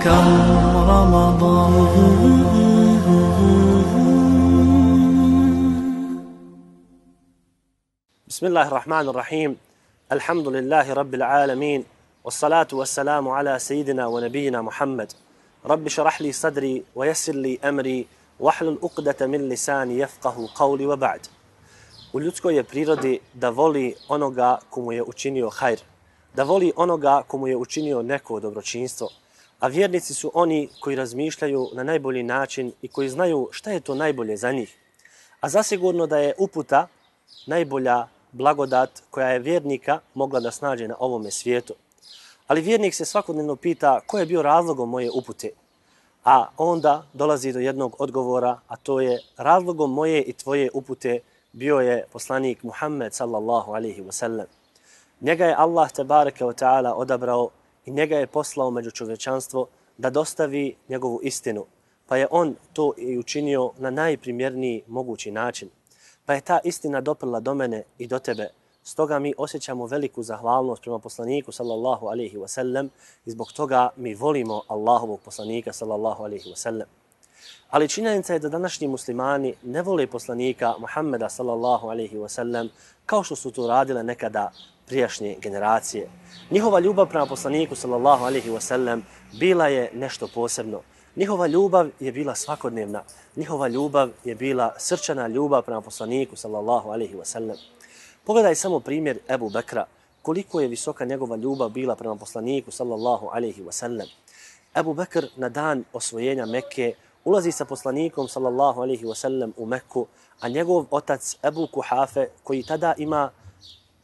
كم رمضان. بسم الله الرحمن الرحيم. الحمد لله رب العالمين، والصلاة والسلام على سيدنا ونبينا محمد. رب شرح لي صدري ويسر لي أمري واحلل عقدة من لساني يفقه قولي وبعد. U ljudskoj je prirodi da voli onoga komu je učinio hajr, da voli onoga komu je učinio neko dobročinstvo, a vjernici su oni koji razmišljaju na najbolji način i koji znaju šta je to najbolje za njih. A zasigurno da je uputa najbolja blagodat koja je vjernika mogla da snađe na ovome svijetu. Ali vjernik se svakodnevno pita ko je bio razlogom moje upute, a onda dolazi do jednog odgovora, a to je razlogom moje i tvoje upute bio je poslanik Muhammed sallallahu alaihi wasallam. Njega je Allah tebareke wa ta'ala odabrao i njega je poslao među čovječanstvo da dostavi njegovu istinu, pa je on to i učinio na najprimjerniji mogući način. Pa je ta istina doprla do mene i do tebe. Stoga mi osjećamo veliku zahvalnost prema poslaniku sallallahu alaihi wasallam i zbog toga mi volimo Allahovog poslanika sallallahu alaihi wasallam. Ali činjenica je da današnji muslimani ne vole poslanika Muhammeda sallallahu alaihi wasallam kao što su to radile nekada prijašnje generacije. Njihova ljubav prema poslaniku sallallahu alaihi wasallam bila je nešto posebno. Njihova ljubav je bila svakodnevna. Njihova ljubav je bila srčana ljubav prema poslaniku sallallahu alaihi wasallam. Pogledaj samo primjer Ebu Bekra, koliko je visoka njegova ljubav bila prema poslaniku sallallahu alaihi wasallam. Ebu Bekr na dan osvojenja Mekke ulazi sa poslanikom sallallahu alaihi wasallam u Mekku, a njegov otac Ebu Kuhafe, koji tada ima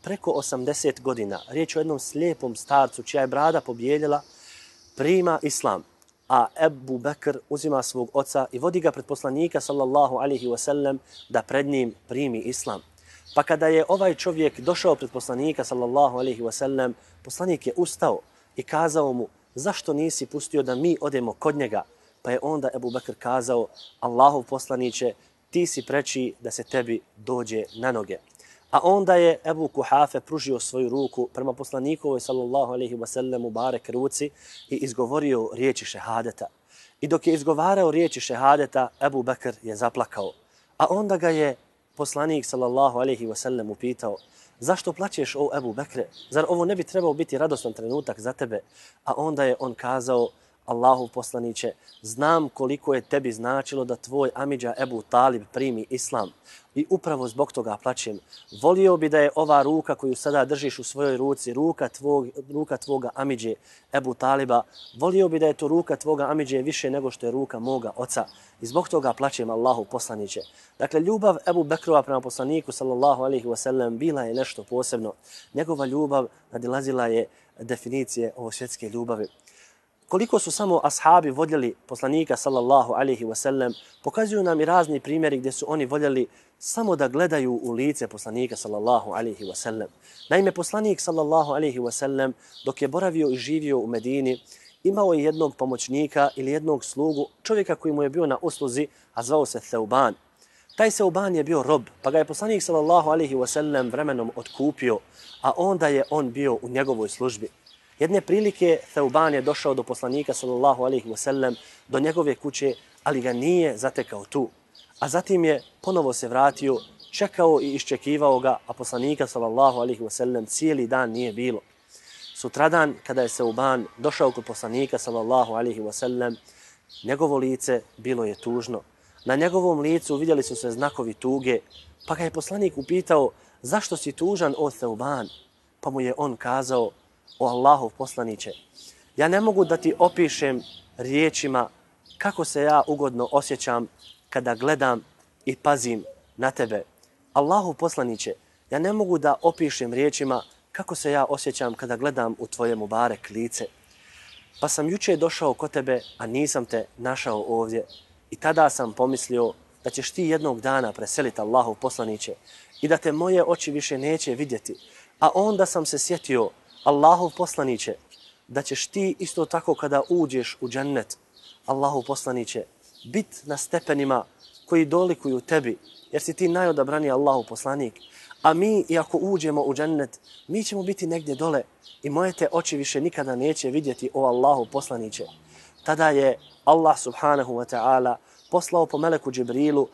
preko 80 godina, riječ o jednom slijepom starcu čija je brada pobjeljela, prima islam. A Ebu Bekr uzima svog oca i vodi ga pred poslanika sallallahu alaihi wasallam da pred njim primi islam. Pa kada je ovaj čovjek došao pred poslanika sallallahu alaihi wasallam, poslanik je ustao i kazao mu: zašto nisi pustio da mi odemo kod njega? Pa je onda Ebu Bekr kazao: Allahov poslaniće, ti si preči da se tebi dođe na noge. A onda je Ebu Kuhafe pružio svoju ruku prema poslanikovoj sallallahu alaihi wasallam u barek ruci i izgovorio riječi šehadeta. I dok je izgovarao riječi šehadeta, Ebu Bekr je zaplakao. A onda ga je poslanik sallallahu alaihi wasallam upitao: zašto plačeš, o Ebu Bekre? Zar ovo ne bi trebao biti radostan trenutak za tebe? A onda je on kazao: Allahov poslaniće, znam koliko je tebi značilo da tvoj amidža Ebu Talib primi islam i upravo zbog toga plačem. Volio bi da je ova ruka koju sada držiš u svojoj ruci ruka tvoga amidže Ebu Taliba. Volio bi da je to ruka tvoga amidže više nego što je ruka moga oca i zbog toga plačem, Allahov poslaniće. Dakle, ljubav Ebu Bekrova prema poslaniku sallallahu alaihi wasallam bila je nešto posebno. Njegova ljubav nadilazila je definicije ovo svjetske ljubavi. Koliko su samo ashabi voljeli poslanika sallallahu alaihi wasallam, pokazuju nam i razni primjeri gdje su oni voljeli samo da gledaju u lice poslanika sallallahu alaihi wasallam. Naime, poslanik sallallahu alaihi wasallam dok je boravio i živio u Medini, imao je jednog pomoćnika ili jednog slugu, čovjeka koji mu je bio na usluzi, a zvao se Theuban. Taj Theuban je bio rob, pa ga je poslanik sallallahu alaihi wasallam vremenom otkupio, a onda je on bio u njegovoj službi. Jedne prilike Theuban je došao do poslanika sallallahu alaihi wasallam, do njegove kuće, ali ga nije zatekao tu. A zatim je ponovo se vratio, čekao i iščekivao ga, a poslanika sallallahu alaihi wasallam cijeli dan nije bilo. Sutradan, kada je Theuban došao kod poslanika sallallahu alaihi wasallam, njegovo lice bilo je tužno. Na njegovom licu vidjeli su se znakovi tuge, pa ga je poslanik upitao: zašto si tužan, o Theuban? Pa mu je on kazao: o Allahov poslaniće, ja ne mogu da ti opišem riječima kako se ja ugodno osjećam kada gledam i pazim na tebe. Allahov poslaniće, ja ne mogu da opišem riječima kako se ja osjećam kada gledam u tvoje mubarek lice. Pa sam juče došao kod tebe, a nisam te našao ovdje. I tada sam pomislio da ćeš ti jednog dana preseliti, Allahov poslaniće, i da te moje oči više neće vidjeti. A onda sam se sjetio, Allahov poslaniće, da ćeš ti isto tako kada uđeš u džennet, Allahov poslaniće, bit na stepenima koji dolikuju tebi, jer si ti najodabrani Allahov poslanik. A mi, iako uđemo u džennet, mi ćemo biti negdje dole i moje te oči više nikada neće vidjeti, o Allahov poslaniće. tada je Allah subhanahu wa ta'ala poslao po meleku Džibrilu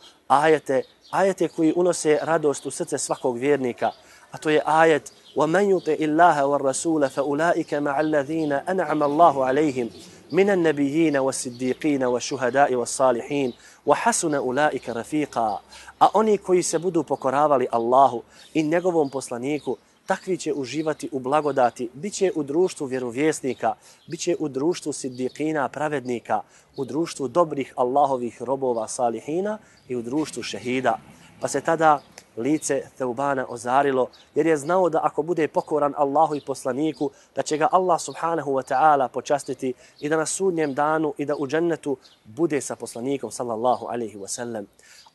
ajete koji unose radost u srce svakog vjernika, a to je ajet وَمَنْ يُطِعِ اللَّهَ وَالرَّسُولَ فَأُولَٰئِكَ مَعَ الَّذِينَ أَنْعَمَ اللَّهُ عَلَيْهِمْ مِنَ النَّبِيِّينَ وَالصِّدِّيقِينَ وَالشُّهَدَاءِ وَالصَّالِحِينَ وَحَسُنَ أُولَٰئِكَ رَفِيقًا. A oni koji se budu pokoravali Allahu i njegovom poslaniku, takvi će uživati u blagodati, bit će u društvu vjerovjesnika, bit će u društvu siddiqina, pravednika, u društvu dobrih Allahovih robova salihina i u društvu šehida. Pa se tada lice Theubana ozarilo, jer je znao da ako bude pokoran Allahu i poslaniku, da će ga Allah subhanahu wa ta'ala počastiti i da na sudnjem danu i da u džennetu bude sa poslanikom sallallahu alaihi wa sallam.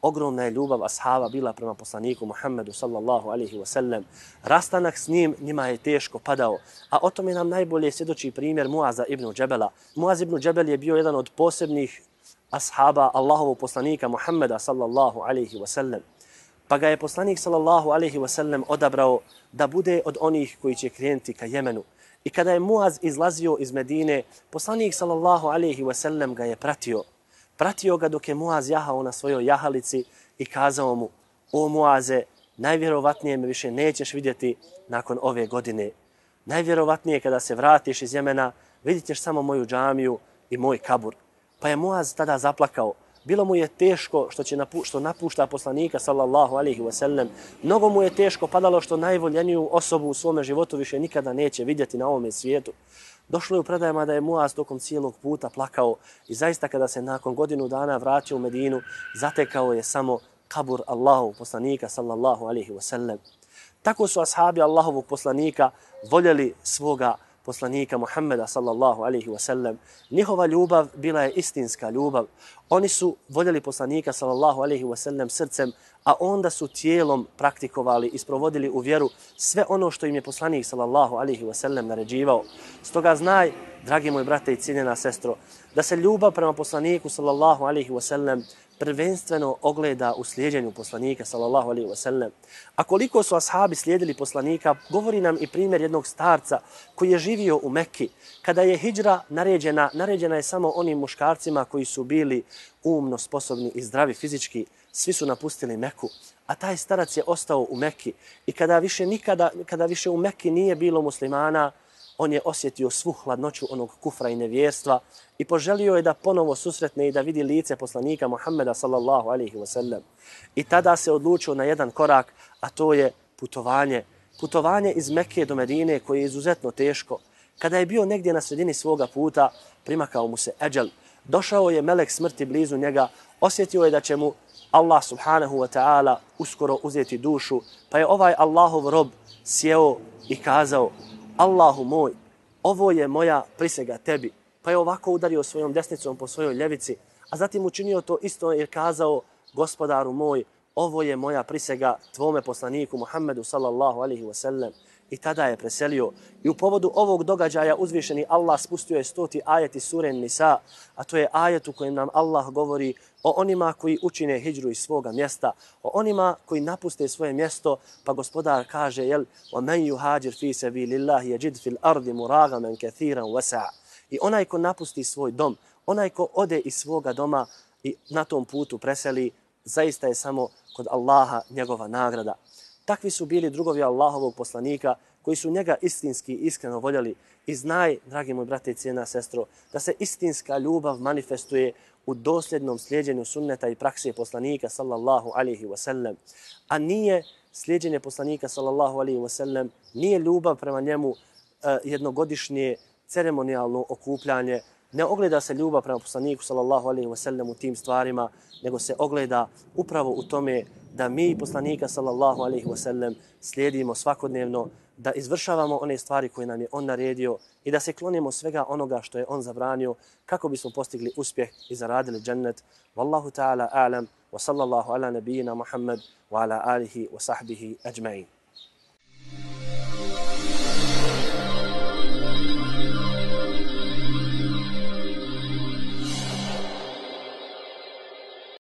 Ogromna je ljubav ashaba bila prema poslaniku Muhammedu sallallahu alaihi wa sallam. Rastanak s njim njima je teško padao, a o tome nam najbolje svjedoči primjer Muaza ibn Džebela. Muaz ibn Džebel je bio jedan od posebnih ashaba Allahovog poslanika Muhammeda sallallahu alaihi wa sallam. Pa ga je poslanik sallallahu alaihi wa sallam odabrao da bude od onih koji će krenuti ka Jemenu. I kada je Muaz izlazio iz Medine, poslanik sallallahu alaihi wa sallam ga je pratio. Pratio ga dok je Muaz jahao na svojoj jahalici i kazao mu: o Muaze, najvjerovatnije me više nećeš vidjeti nakon ove godine. Najvjerovatnije kada se vratiš iz Jemena, vidjet ćeš samo moju džamiju i moj kabur. Pa je Muaz tada zaplakao. Bilo mu je teško što napušta poslanika sallallahu alaihi wa sallam. Mnogo mu je teško padalo što najvoljeniju osobu u svome životu više nikada neće vidjeti na ovome svijetu. Došlo je u predajama da je Muaz tokom cijelog puta plakao i zaista kada se nakon godinu dana vratio u Medinu, zatekao je samo kabur Allahovog poslanika sallallahu alaihi wa sallam. Tako su ashabi Allahovog poslanika voljeli svoga poslanika Muhammeda sallallahu alaihi wa sallam. Njihova ljubav bila je istinska ljubav. Oni su voljeli poslanika sallallahu alaihi wa sallam srcem, a onda su tijelom praktikovali i sprovodili u vjeru sve ono što im je poslanik sallallahu alaihi wa sallam naređivao. Stoga znaj, dragi moj brate i cijenjena sestro, da se ljubav prema poslaniku sallallahu alaihi wa sallam prvenstveno ogleda u slijedjenju poslanika sallallahu alaihi wa sallam. A koliko su ashabi slijedili poslanika, govori nam i primjer jednog starca koji je živio u Mekki. Kada je hidžra naređena je samo onim muškarcima koji su bili umno sposobni i zdravi fizički. Svi su napustili Meku, a taj starac je ostao u Mekki. I kada više u Mekki nije bilo muslimana, on je osjetio svu hladnoću onog kufra i nevjerstva i poželio je da ponovo susretne i da vidi lice poslanika Muhammeda sallallahu alaihi wa sallam. I tada se odlučio na jedan korak, a to je putovanje. Putovanje iz Mekke do Medine koje je izuzetno teško. Kada je bio negdje na sredini svoga puta, primakao mu se eđel. Došao je melek smrti blizu njega, osjetio je da će mu Allah subhanahu wa ta'ala uskoro uzeti dušu, pa je ovaj Allahov rob sjeo i kazao: Allahu moj, ovo je moja prisega tebi. Pa je ovako udario svojom desnicom po svojoj ljevici, a zatim učinio to isto jer kazao: Gospodaru moj, ovo je moja prisega tvome poslaniku Muhammedu sallallahu alaihi wa sallam. I tada je preselio. I u povodu ovog događaja uzvišeni Allah spustio je 100. ajet iz sure Nisa, a to je ajet u kojem nam Allah govori o onima koji učine hidžru iz svoga mjesta, o onima koji napuste svoje mjesto, pa gospodar kaže: وَمَنْ يُهَاجِرْ فِي سَبِيلِ اللَّهِ يَجِدْ فِي الْأَرْضِ مُرَاغَمًا كَثِيرًا وَسَعًا. I onaj ko napusti svoj dom, onaj ko ode iz svoga doma i na tom putu preseli, zaista je samo kod Allaha njegova nagrada. Takvi su bili drugovi Allahovog poslanika koji su njega istinski i iskreno voljeli. I znaj, dragi moj brate i cijena sestro, da se istinska ljubav manifestuje u dosljednom slijedjenju sunneta i prakse poslanika sallallahu alaihi wa sallam. A nije slijedjenje poslanika sallallahu alaihi wa sallam, nije ljubav prema njemu jednogodišnje ceremonijalno okupljanje. Ne ogleda se ljubav prema poslaniku sallallahu alaihi wa sallam u tim stvarima, nego se ogleda upravo u tome da mi poslanika sallallahu alaihi wa sallam slijedimo svakodnevno, da izvršavamo one stvari koje nam je on naredio i da se klonimo svega onoga što je on zabranio kako bismo postigli uspjeh i zaradili džennet. Wallahu ta'ala a'lam wa sallallahu ala nabijina Muhammad wa ala alihi wa sahbihi ajma'in.